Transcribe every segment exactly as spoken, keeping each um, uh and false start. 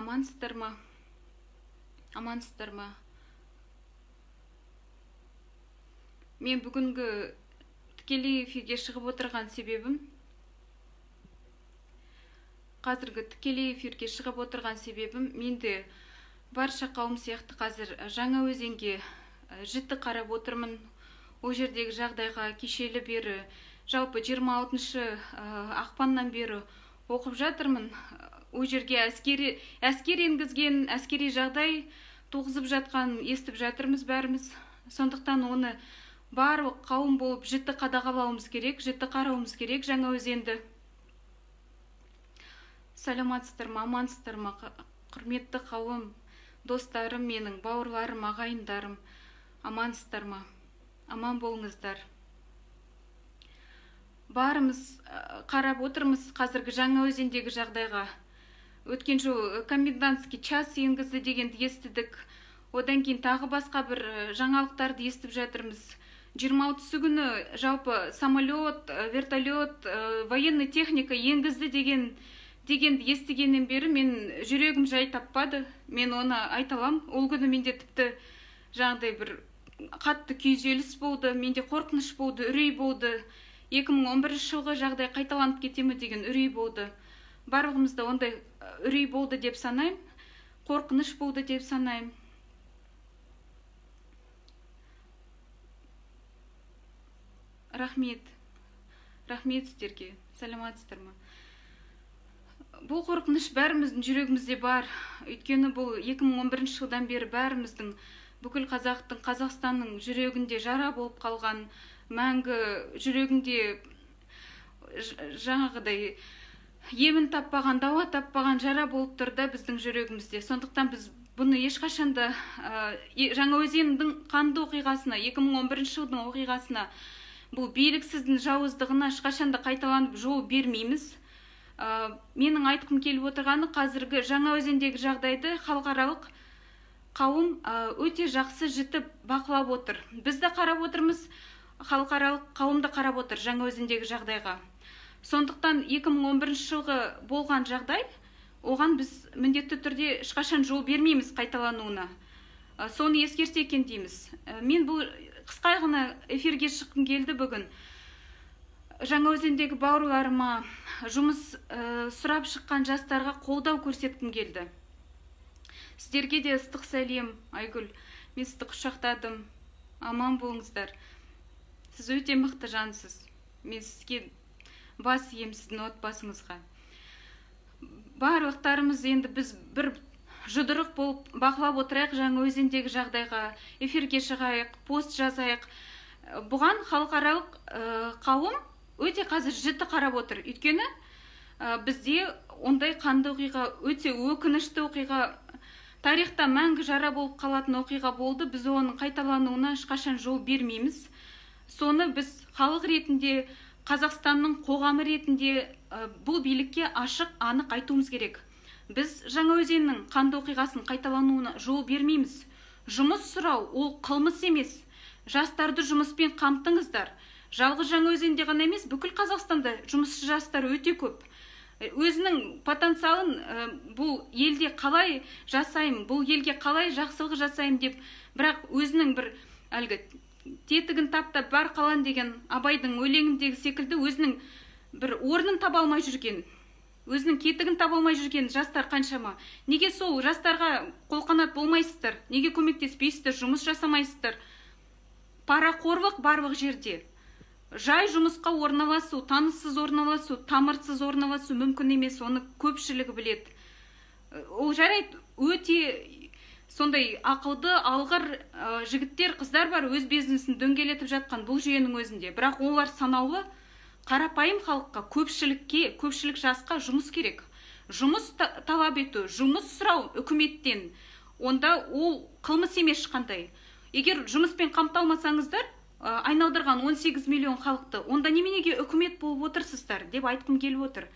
Амансыздар ма? Амансыздар ма? Мен бүгінгі тікелей эфирге шығып отырған себебім, қазіргі тікелей эфирге шығып отырған себебім, менде барша қауым сияқты қазір жаңа өзенге жіті қарап отырмын. О жердегі жағдайға кешелі бері, жалпы жиырма алтыншы ақпаннан бері оқып жатырмын. О жерге әскери әскер енгізген, әскери жағдай туғызып жатқан естіп жатырмыз бәріміз. Сондықтан оны барлық қауым болып жіті қадағалауымыз керек, жіті қарауымыз керек жаңа өзенді. Саламатсыздар ма, амансыздар ма, құрметті қауым, достарым менің, бауырларым, ағайындарым, амансыздар ма, аман болыңыздар. Барымыз қарап отырмыз қазіргі жаңа өзендегі жағдайға. Өткен жол комендантский час енгізді дегенді естідік. Одан кейін тағы басқа бір жаңалықтарды естіп жатырмыз. жиырма алтысы күні жалпы самолет, вертолет, военный техника енгізді деген дегенді естігеннен бері мен жүрегім жай таппады. Мен оны айталам. Ол күні менде тіпті жаңағыдай бір қатты күйзеліс болды, менде қорқыныш болды, үрей болды. екі мың он бірінші жылғы жағдай қайталанып кетемі деген үрей болды. Барлығымызда ондай үрей болды деп санаймын, қорқыныш болды деп санаймын. Рахмет. Рахмет сіздерге. Саламатсыздар ма? Бұл қорқыныш бәріміздің жүрегімізде бар. Өйткені бұл екі мың он бірінші жылдан бері бәріміздің, бүкіл қазақтың, Қазақстанның жүрегінде жара болып қалған, мәңгі жүрегінде жаңағыдай емін таппаған, дауа таппаған жара болып тұрды біздің жүрегімізде. Сондықтан біз бұны ешқашанда жаңа өзендің қанды оқиғасына, екі мың он бірінші жылдың оқиғасына, бұл биліксіздің жауыздығына ешқашанда қайталанып жол бермейміз. Менің айтқым келіп отырғаны қазіргі жаңа өзендегі жағдайды халықаралық қауым өте жақсы жіті бақылап отыр. Біз де қарап отырмыз, халықаралық қауым да қарап отыр жаңа өзендегі жағдайға. Сондықтан екі мың он бірінші жылғы болған жағдай, оған біз міндетті түрде ешқашан жол бермейміз қайталануына. Соны ескерсе екен дейміз. Мен бұл қысқа ғана эфирге шыққым келді бүгін. Жаңа өзендегі бауырларыма, жұмыс сұрап шыққан жастарға қолдау көрсеткім келді. Сіздерге де ыстық сәлем, Айгүл. Мен сізді құшақтадым. Аман болыңыздар. Сіз өте мықты жансыз. Мен сізге бас ием сіздің отбасыңызға. Барлықтарымыз енді біз бір жұдырық болып бақылап отырайық жаңа өзендегі жағдайға, эфирге шығайық, пост жазайық. Бұған халықаралық қауым өте қазір жіті қарап отыр. Өйткені бізде ондай қанды оқиға, өте өкінішті оқиға, тарихта мәңгі жара болып қалатын оқиға болды. Біз оның қайталануына ешқашан жол бермейміз. Соны біз халық ретінде, Қазақстанның қоғамы ретінде бұл билікке ашық, анық айтуымыз керек. Біз жаңа өзеннің қанды оқиғасын қайталануына жол бермейміз. Жұмыс сұрау ол қылмыс емес. Жастарды жұмыспен қамтыңыздар. Жалғыз жаңа өзенде ғана емес, бүкіл Қазақстанда жұмысшы жастар өте көп. Өзінің потенциалын бұл елде қалай жасайым, бұл елге қалай жақсылық жасайым деп, бірақ өзінің бір әлгі тетігін таптап бар қалан деген Абайдың өлеңіндегі секілді өзінің бір орнын таба алмай жүрген, өзінің кетігін таба алмай жүрген жастар қаншама. Неге сол жастарға қолқанат болмайсыздар? Неге көмектеспейсіздер, жұмыс жасамайсыздар? Парақорлық барлық жерде. Жай жұмысқа орналасу, таныссыз орналасу, тамырсыз орналасу мүмкін емес, оны көпшілігі біледі. Ол жарайды, өте сондай ақылды, алғыр жігіттер, қыздар бар, өз бизнесін дөңгелетіп жатқан бұл жүйенің өзінде. Бірақ олар санаулы, қарапайым халыққа, көпшілікке, көпшілік жасқа жұмыс керек. Жұмыс талап ету, жұмыс сұрау үкіметтен, онда ол қылмыс емес ешқандай. Егер жұмыспен қамталмасаңыздар, айналдырған он сегіз миллион халықты, онда неменеге үкімет болып отырсыздар деп айтқым келіп отыр.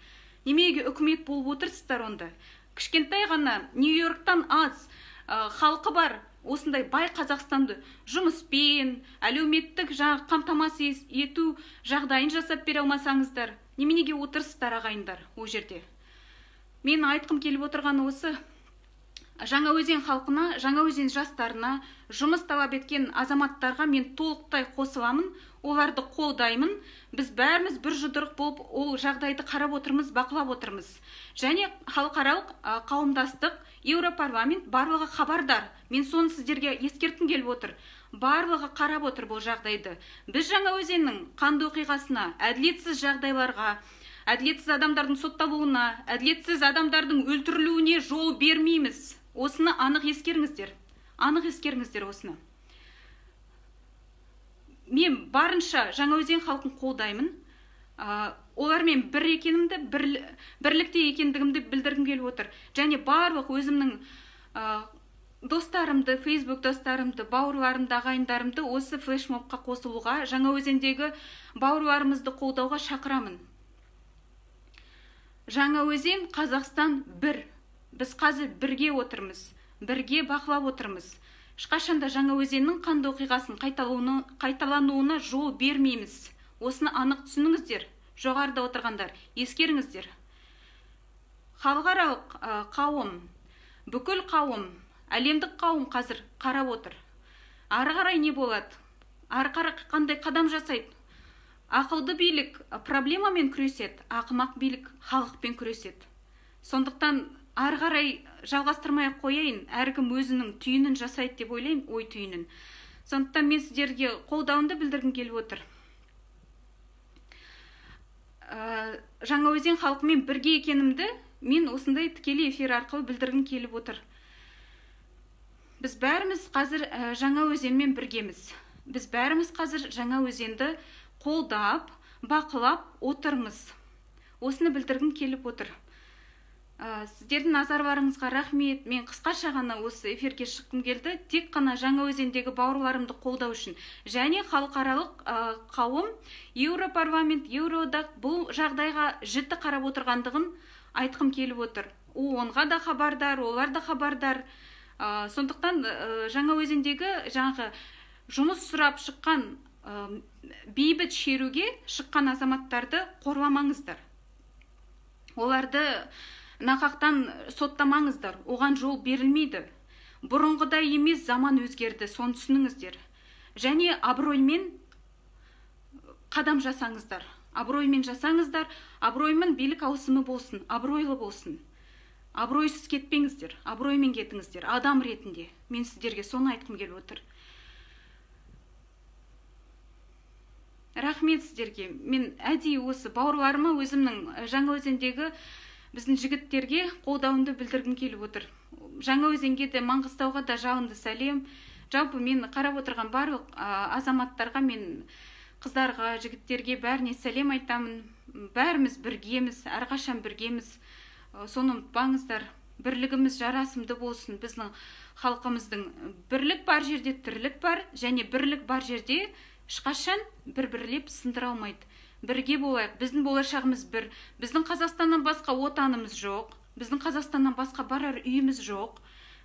Неменеге үкімет болып отырсыздар онда? Кішкентай ғана Нью-Йорктан аз халқы бар осындай бай Қазақстанды жұмыспен, әлеуметтік қамтамасыз ету жағдайын жасап бере алмасаңыздар, неменеге отырсыздар ағайындар о жерде? Мен айтқым келіп отырғаны осы. Жаңаөзен халқына, Жаңаөзен жастарына, жұмыс талап еткен азаматтарға мен толықтай қосыламын, оларды қолдаймын. Біз бәріміз бір жұдырық болып ол жағдайды қарап отырмыз, бақылап отырмыз. Және халықаралық қауымдастық, Еуропарламент барлығы хабардар. Мен соны сіздерге ескерткім келіп отыр. Барлығы қарап отыр бұл жағдайды. Біз Жаңаөзеннің қанды оқиғасына, әділетсіз жағдайларға, әділетсіз адамдардың сотталуына, әділетсіз адамдардың өлтірілуіне жол бермейміз. Осыны анық ескеріңіздер. Анық ескеріңіздер осыны. Мен барынша Жаңаөзен халқын қолдаймын. Олармен бір екенімді, бірлікте екендігімді білдіргім келіп отыр. Және барлық өзімнің достарымды, Facebook достарымды, бауырларымды, ағайындарымды осы флешмобқа қосылуға, Жаңаөзендегі бауырларымызды қолдауға шақырамын. Жаңаөзен, Қазақстан бір. Біз қазір бірге отырмыз, бірге бақылап отырмыз. Ешқашанда Жаңаөзеннің қанды оқиғасын қайталануына жол бермейміз. Осыны анық түсініңіздер, жоғарыда отырғандар, ескеріңіздер. Халықаралық қауым, бүкіл қауым, әлемдік қауым қазір қарап отыр. Ары қарай не болады? Ары қарай қандай қадам жасайды? Ақылды билік проблемамен күреседі, ақымақ билік халықпен күреседі. Сондықтан ары қарай жалғастырмай қояйын, әркім өзінің түйінін жасайды деп ойлаймын, ой түйінін. Сондықтан мен сіздерге қолдауымды білдіргім келіп отыр. Жаңаөзен халқымен бірге екенімді мен осындай тікелей эфир арқылы білдіргім келіп отыр. Біз бәріміз қазір Жаңаөзенмен біргеміз. Біз бәріміз қазір Жаңаөзенді қолдап, бақылап отырмыз. Осыны білдіргім келіп отыр. Сіздердің назарларыңызға рахмет. Мен қысқаша ғана осы эфирге шыққым келді. Тек қана Жаңаөзендегі бауырларымды қолдау үшін. Және халықаралық қауым, Еуропарламент, Еуроодақ бұл жағдайға жіті қарап отырғандығын айтқым келіп отыр. Онға да хабардар, олар да хабардар. Сондықтан Жаңаөзендегі жаңағы жұмыс сұрап шыққан, бейбіт шеруге шыққан азаматтарды қорламаңыздар. Оларды нақақтан соттамаңыздар, оған жол берілмейді. Бұрынғыдай емес, заман өзгерді, соны түсініңіздер. Және абыроймен қадам жасаңыздар. Абыроймен жасаңыздар, абыроймен билік ауысымы болсын, абыройлы болсын. Абыройсыз кетпеңіздер, абыроймен кетіңіздер, адам ретінде. Мен сіздерге соны айтқым келіп отыр. Рахмет сіздерге. Мен әдейі осы бауырларыма өзімнің Жаңаөзендегі біздің жігіттерге қолдауымды білдіргім келіп отыр. Жаңаөзенге де, Маңғыстауға да жалынды сәлем. Жалпы мен қарап отырған барлық азаматтарға, мен қыздарға, жігіттерге бәріне сәлем айтамын. Бәріміз біргеміз, әрқашан біргеміз. Соны ұмытпаңыздар. Бірлігіміз жарасымды болсын. Біздің халқымыздың бірлік бар жерде тірлік бар, және бірлік бар жерде ешқашан бір-бірлеп сындыра алмайды. Бірге болайық. Біздің болашағымыз бір. Біздің Қазақстаннан басқа отанымыз жоқ. Біздің Қазақстаннан басқа барар үйіміз жоқ.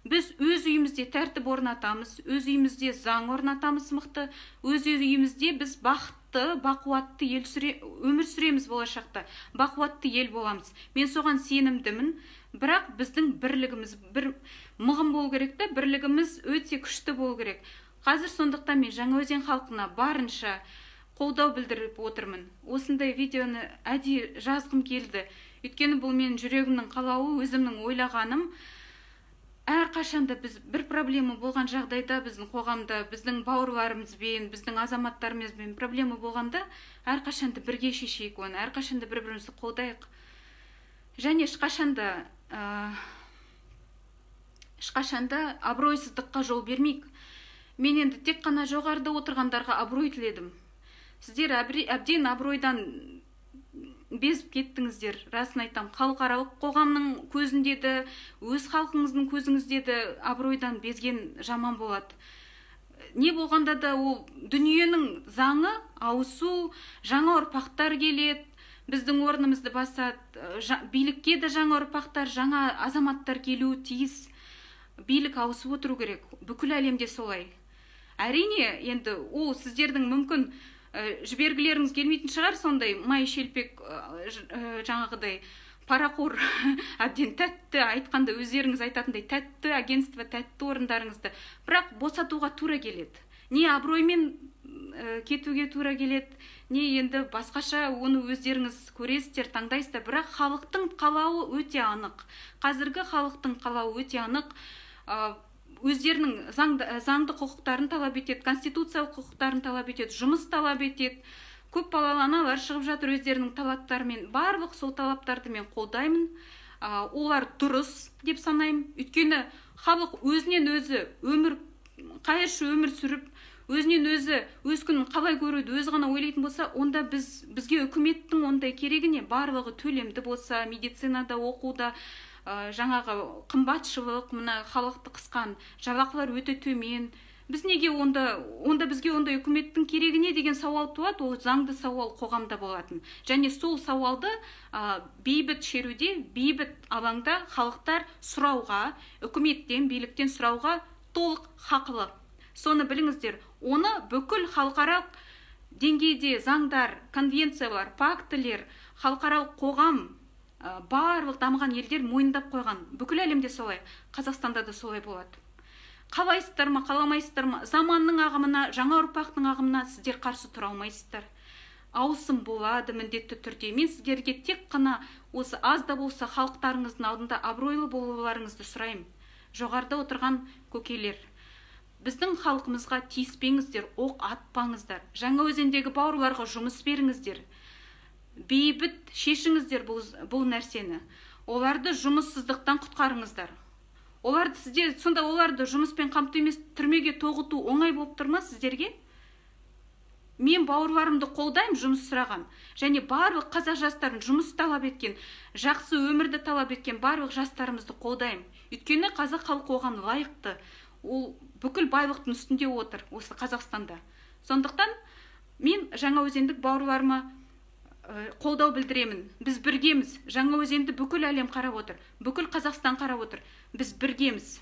Біз өз үйімізде тәртіп орнатамыз, өз үйімізде заң орнатамыз мықты, өз үйімізде біз бақытты, бақуатты ел сүре, өмір сүреміз болашақта. Бақуатты ел боламыз. Мен соған сенімдімін. Бірақ біздің бірлігіміз бір мығым болу керек та, бірлігіміз өте күшті болу керек. Қазір сондықтан мен Жаңаөзен халқына барынша қолдау білдіріп отырмын. Осындай видеоны әдейі жазғым келді. Өйткені бұл менің жүрегімнің қалауы, өзімнің ойлағаным. Әрқашанда біз бір проблема болған жағдайда, біздің қоғамда, біздің бауырларымызбен, біздің азаматтарымызбен проблема болғанда, әрқашанда бірге шешейік оны, әрқашанда бір-бірімізді қолдайық. Және ешқашанда ешқашанда абыройсыздыққа жол бермейік. Мен енді тек қана жоғарыда отырғандарға абырой тіледім. Сіздер әбден абыройдан безіп кеттіңіздер, расын айтам. Халықаралық қоғамның көзінде де, өз халқыңыздың көзіңізде де абыройдан безген жаман болады. Не болғанда да ол дүниенің заңы ауысу, жаңа ұрпақтар келеді, біздің орнымызды басады, билікке де жаңа ұрпақтар, жаңа азаматтар келуі тиіс. Билік ауысып отыру керек. Бүкіл әлемде солай. Әрине, енді ол сіздердің мүмкін жібергілеріңіз келмейтін шығар, сондай май шелпек жаңағыдай парақор әбден тәтті, айтқанда өздеріңіз айтатындай тәтті агентство, тәтті орындарыңызды, бірақ босатуға тура келеді. Не абыроймен кетуге тура келеді, не енді басқаша оны өздеріңіз көресіздер, таңдайсыздар. Бірақ халықтың қалауы өте анық. Қазіргі халықтың қалауы өте анық. Өздерінің заңды құқықтарын талап етеді, конституциялық құқықтарын талап етеді, жұмыс талап етеді. Көп балалы аналар шығып жатыр өздерінің талаптарымен. Барлық сол талаптарды мен қолдаймын. Олар дұрыс деп санаймын. Өйткені халық өзінен өзі өмір, қайыршы өмір сүріп, өзінен өзі өз күнін қалай көруді өзі ғана ойлайтын болса, онда біз бізге үкіметтің ондай керегі не? Барлығы төлемді болса, медицинада, оқуда, жаңағы қымбатшылық, мына халықты қысқан жалақылар өте төмен. Біз неге онда, онда бізге ондай үкіметтің керегі не деген сауал туады, ол заңды сауал қоғамда болатын. Және сол сауалды бейбіт шеруде, бейбіт алаңда халықтар сұрауға, үкіметтен, биліктен сұрауға толық хақылы. Соны біліңіздер, оны бүкіл халықаралық деңгейде заңдар, конвенциялар, пактілер, халықаралық қоғам, барлық дамыған елдер мойындап қойған. Бүкіл әлемде солай, Қазақстанда да солай болады. Қалайсыздар ма, қаламайсыздар ма, заманның ағымына, жаңа ұрпақтың ағымына сіздер қарсы тұра алмайсыздар. Ауысым болады міндетті түрде. Мен сіздерге тек қана осы аз да болса халықтарыңыздың алдында абыройлы болуларыңызды сұраймын. Жоғарыда отырған көкелер, біздің халқымызға тиіспеңіздер, оқ атпаңыздар. Жаңаөзендегі бауырларға жұмыс беріңіздер. Бейбіт шешіңіздер бұл, бұл нәрсені. Оларды жұмыссыздықтан құтқарыңыздар. Оларды сізде, сонда оларды жұмыспен қамту емес, түрмеге тоғыту оңай болып тұрма сіздерге? Мен бауырларымды қолдаймын, жұмыс сұраған. Және барлық қазақ жастарын жұмыс талап еткен, жақсы өмірді талап еткен барлық жастарымызды қолдаймын. Өйткені қазақ халқы оған лайықты. Ол бүкіл байлықтың үстінде отыр осы Қазақстанда. Сондықтан мен Жаңаөзендік бауырларыма қолдау білдіремін. Біз біргеміз. Жаңаөзенді бүкіл әлем қарап отыр. Бүкіл Қазақстан қарап отыр. Біз біргеміз.